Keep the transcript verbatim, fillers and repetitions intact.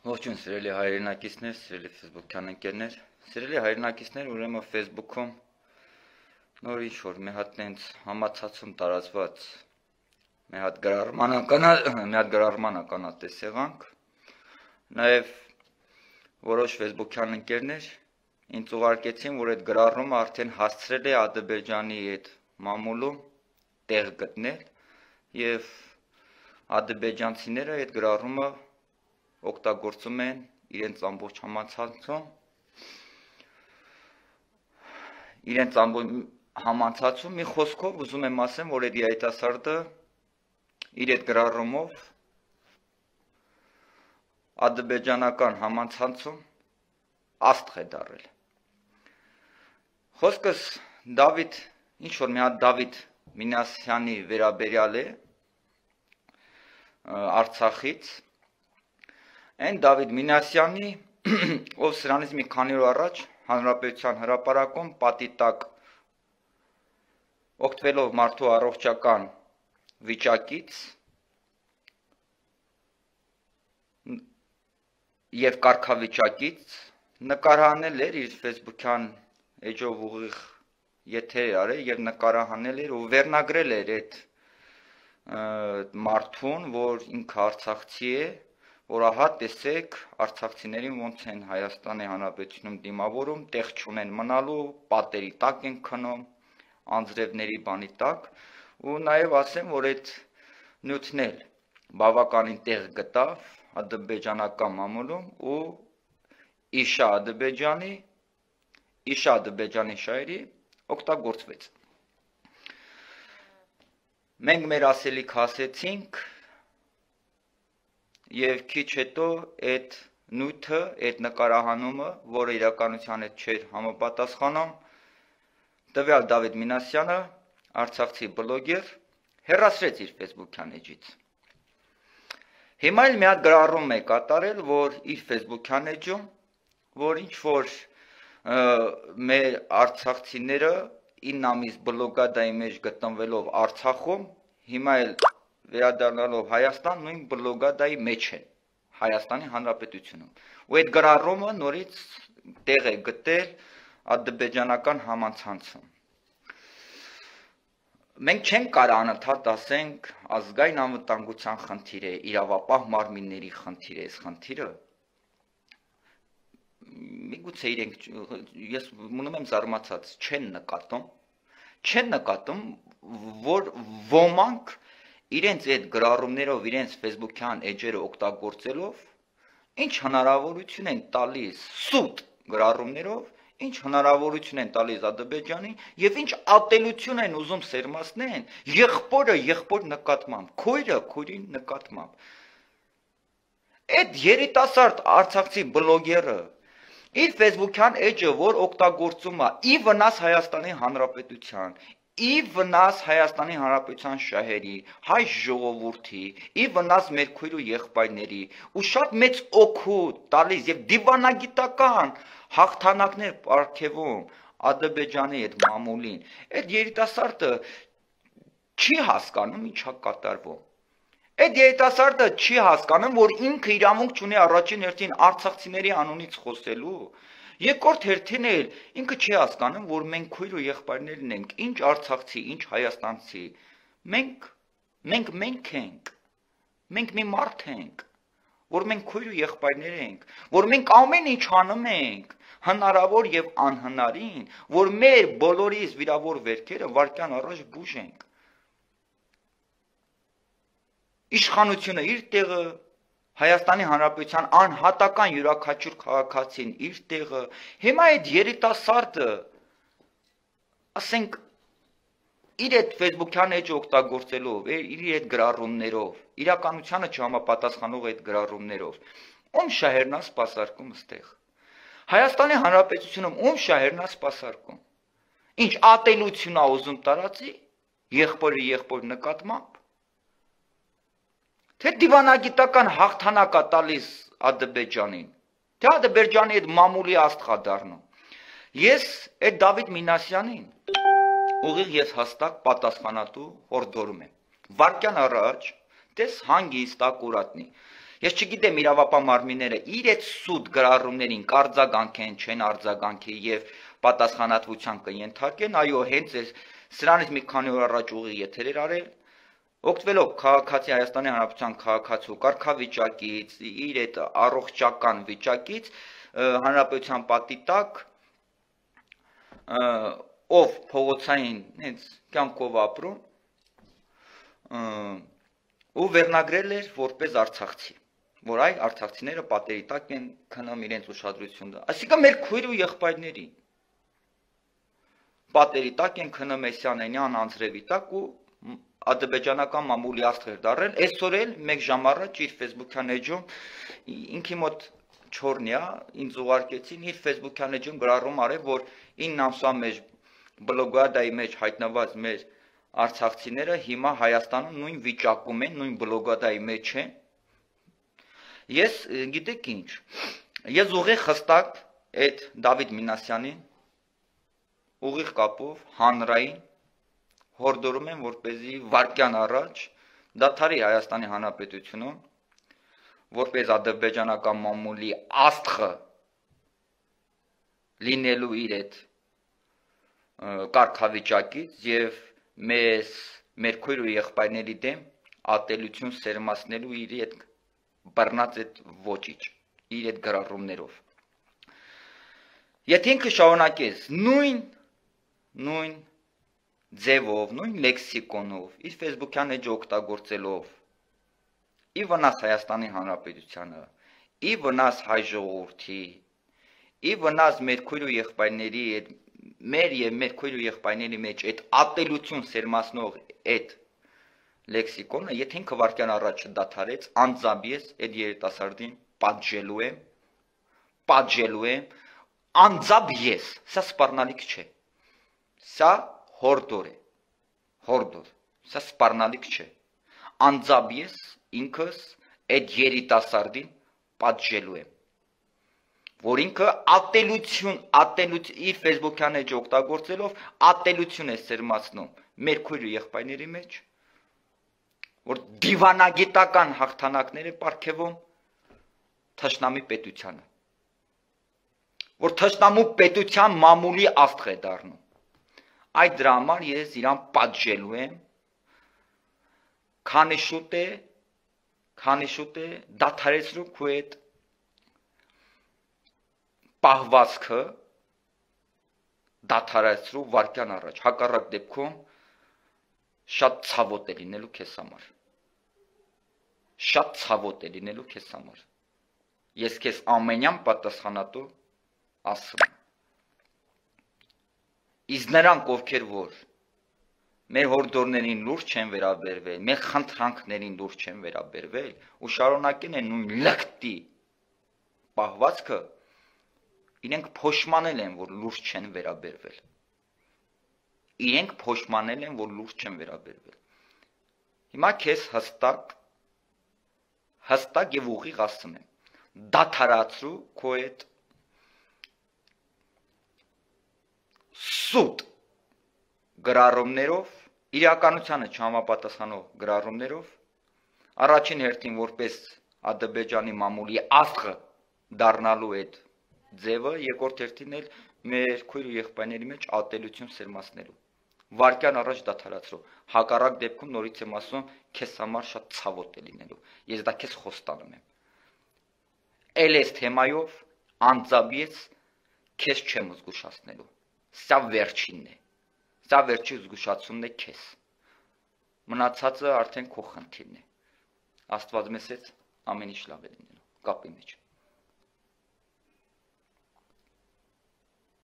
Ողջույն սիրելի հայրենակիցներ, սիրելի Facebook-յան ընկերներ, սիրելի հայրենակիցներ, ուրեմն Facebook-ում նոր ինչ-որ մի հատ տենց համացածում տարածված մի հատ գրառման ականատես եղանք, նաև որոշ Facebook-յան ընկերներ ինձ ուղարկեցին, որ այդ գրառումը արդեն հասցրել է Ադրբեջանի այդ մամուլում տեղ գտնել և ադրբեջանցիները այդ գրառումը օգտագործում են իրենց ամբողջ համացանցում, իրենց ամբողջ համացանցում մի խոսքով ուզում եմ ասեմ, որ այդ երիտասարդը իր այդ գրառումով ադրբեջանական համացանցում աստղ է դառել։ Խոսքս Դավիթ, ինչ որ մի հատ Դավիթ Մինասյանի վերաբերյալ է Արցախից, Այն Դավիթ Մինասյանի, ով սրանից մի քանի օր առաջ Հանրապետության հրապարակում պատի տակ օգտվելով մարդու առողջական վիճակից և կարգավիճակից նկարահանել էր իր Facebook-յան էջով ուղիղ եթեր արել և նկարահանել էր ու վերնագրել էր այդ մարդուն, որ ինքը արցախցի է, որ ահա տեսեք արցախցիներին ոնց են Հայաստանի Հանրապետությունում դիմավորում, տեղ չունեն մնալու, պատերի տակ են քնում, անձրևների բանի տակ, ու նաև ասեմ, որ այդ նյութն էլ բավականին տեղ գտավ ադրբեջանական մամուլում ու իշա Ադրբեջանի, իշա Ադրբեջանի շահերի օգտագործվեց։ Մենք մեր ասելիք ասեցինք և քիչ հետո այդ նյութը, այդ նկարահանումը, որը իրականության հետ չէր համապատասխանում, տվյալ Դավիթ Մինասյանը, արցախցի բլոգեր, հեռացրեց իր Facebook-յան էջից։ Հիմա էլ մի հատ գրառում է կատարել, որ իր Facebook-յան էջում, որ ինչ-որ մեր արցախցիները ինը ամիս բլոկադայի մեջ գտնվելով Արցախում, հիմա էլ վերադառնալով Հայաստան, նույն բլոկադայի մեջ են Հայաստանի Հանրապետությունում։ Ու այդ գրառումը նորից տեղ է գտել ադրբեջանական համացանցում։ Մենք չենք կարող անընդհատ ասենք ազգային անվտանգության խնդիր է, իրավապահ մարմինների խնդիր է, այս խնդիրը։ Միգուցե իրենք, ես մնում եմ զարմացած, չեն նկատում, չեն նկատում, որ ոմանք իրենց այդ գրառումներով, իրենց Facebook-յան էջերը օգտագործելով, ինչ հնարավորություն են տալիս սուտ գրառումներով, ինչ հնարավորություն են տալիս Ադրբեջանին և ինչ ատելություն են ուզում սերմացնեն եղբորը եղբոր նկատմամբ, քույրը քույրի նկատմամբ։ Այդ երիտասարդ արցախցի բլոգերը իր Facebook-յան էջը, որ օգտագործում է ի վնաս Հայաստանի Հանրապետության, ի վնաս Հայաստանի Հանրապետության շահերի, հայ ժողովրդի, ի վնաս մեր քույր ու եղբայրների ու շատ մեծ օգուտ տալիս և դիվանագիտական հաղթանակներ պարգևում Ադրբեջանի այդ մամուլին, այդ երիտասարդը չի հասկանում ինչ է կատարվում։ Այդ երիտասարդը չի հասկանում, որ ինքը իրավունք չունի առաջին հերթին արցախցիների անունից խոսելու, երկրորդ հերթին էլ ինքը չի հասկանում, որ մենք քույր ու եղբայրներն ենք, ինչ արցախցի, ինչ հայաստանցի, մենք, մենք մենք ենք, մենք մի մարդ ենք, որ մենք քույր ու եղբայրներ ենք, որ մենք ամեն ինչ անում ենք, հնարավոր և անհնարին, որ մեր բոլորիս վիրավոր վերքերը վայրկյան առաջ բուժենք։ Իշխանությունը իր տեղը, Հայաստանի Հանրապետության անհատական յուրաքանչյուր քաղաքացին իր տեղը, հիմա այդ երիտասարդը, ասենք, իր այդ Facebook-յան էջը օգտագործելով, իր այդ գրառումներով, իրականությանը չհամապատասխանող այդ գրառումներով, ում շահերն է սպասարկում ստեղ։ Հայաստանի Հանրապետությունում ում շահերն է սպասարկում։ Ինչ ատելություն է ուզում տարածի, եղբորը եղբոր նկատմամբ։ Թե դիվանագիտական հաղթանակ է տալիս Ադրբեջանին, թե Ադրբեջանի այդ մամուլի աստղ է դառնում։ Ես այդ Դավիթ Մինասյանին ուղիղ ես հաստատ պատասխանատու հորդորում եմ։ Վայրկյան առաջ, տես հանգիստ ակուրատնի։ Ես չգիտեմ իրավապահ մարմինները իր այդ սուտ գրառումներին կարձագանքեն, չեն արձագանքի եւ պատասխանատվության կընթարկեն, այո, հենց այս սրանից մի քանի օր առաջ ուղիղ եթերեր արել, օգտվելով քաղաքացի Հայաստանի Հանրապետության քաղաքացու կարգավիճակից, իր այդ առողջական վիճակից, հանրապետության պատի տակ ով փողոցային հենց կյանքով ապրում ու վերնագրել էր որպես արցախցի, որ այ արցախցիները պատերի տակ են քնում իրենց ուշադրությունը։ Այսինքն մեր քույր ու եղբայրների պատերի տակ են քնում Էսյանենյան անձրևի տակ ու ադրբեջանական մամուլի աստղեր դարել, այսօր էլ մեկ ժամ առաջ իր Facebook-յան էջում ինքի մոտ չորնյա ինձ ուղարկեցին իր Facebook-յան էջում գրառում արել, որ ինը ամսվա մեջ բլոգադայի մեջ հայտնված մեր արցախցիները հիմա Հայաստանում նույն վիճակում են, նույն բլոգադայի մեջ են։ Ես գիտեք ինչ, ես ուղիղ հստակ այդ Դավիթ Մինասյանին ուղիղ կապով հանրային հորդորում եմ, որպեսզի վարկյան առաջ դադարի Հայաստանի Հանրապետությունում, որպես ադրբեջանական մամուլի աստղը լինելու իր այդ կարգավիճակից եւ մեզ մեր քույր ու եղբայրների դեմ ատելություն սերմացնելու իր այդ բռնած այդ ոճիչ, իր այդ գրառումներով։ Եթե ինքը շարունակես նույն նույն ձևով, նույն լեքսիկոնով, իր Facebook-յան էջը օգտագործելով, ի վնաս Հայաստանի Հանրապետությանը, ի վնաս հայ ժողովրդի, ի վնաս մեր քույր ու եղբայրների այդ մեր եւ մեր քույր ու եղբայրների մեջ այդ ատելություն սերմացնող այդ լեքսիկոնը, եթե ինքը վարկյան առաջ դադարեց, անձամբ ես այդ երիտասարդին պատժելու եմ, պատժելու եմ, անձամբ ես, սա սպառնալիք չէ, սա հորդոր է, հորդոր, սա սպառնալիք չէ, անձամբ ես ինքս այդ երիտասարդին պատժելու եմ, որ ինքը ատելություն, ատելություն, իր Facebook-յան էջը օգտագործելով ատելություն է սերմացնում մեր քույր ու եղբայրների մեջ, որ դիվանագիտական հաղթանակներ է պարգևում թշնամի պետությանը, որ թշնամու պետության մամուլի աստղ է դառնում, այդ դրա համար ես իրան պատժելու եմ, քանի շուտ է, քանի շուտ է դադարեցրու քո այդ պահվածքը դադարեցրու վարկյան առաջ, հակառակ դեպքում շատ ցավոտ է լինելու քեզ համար, շատ ցավոտ է լինելու քեզ համար, ես քեզ ամենյան պատասխանատու ասում եմ, իսկ նրանք ովքեր որ մեր հորդորներին լուրջ չեն վերաբերվել, մեր խնդրանքներին լուրջ չեն վերաբերվել ու շարունակեն են նույն լկտի պահվածքը, իրենք փոշմանել են, որ լուրջ չեն վերաբերվել, իրենք փոշմանել են, որ լուրջ չեն վերաբերվել, հիմա քեզ հստակ, հստակ և ուղիղ ասում եմ, դադարացրու քո այդ սուտ գրառումներով, իրականությանը չհամապատասխանող գրառումներով, առաջին հերթին որպես Ադրբեջանի մամուլի աստղը դառնալու այդ ձևը, երկրորդ հերթին էլ մեր քույր ու եղբայրների մեջ ատելություն սերմացնելու, վարկյան առաջ դադարացրու, հակառակ դեպքում նորից եմ ասում, քեզ համար շատ ցավոտ է լինելու, ես դա քեզ խոստանում եմ, էլ այս թեմայով անձամբ ես քեզ չեմ զգուշացնելու, սա վերջինն է, սա վերջի զգուշացումն է քեզ, մնացածը արդեն քո խնդիրն է, Աստված մեզ հետ ամեն ինչ լավ է լինելու, կապի մեջ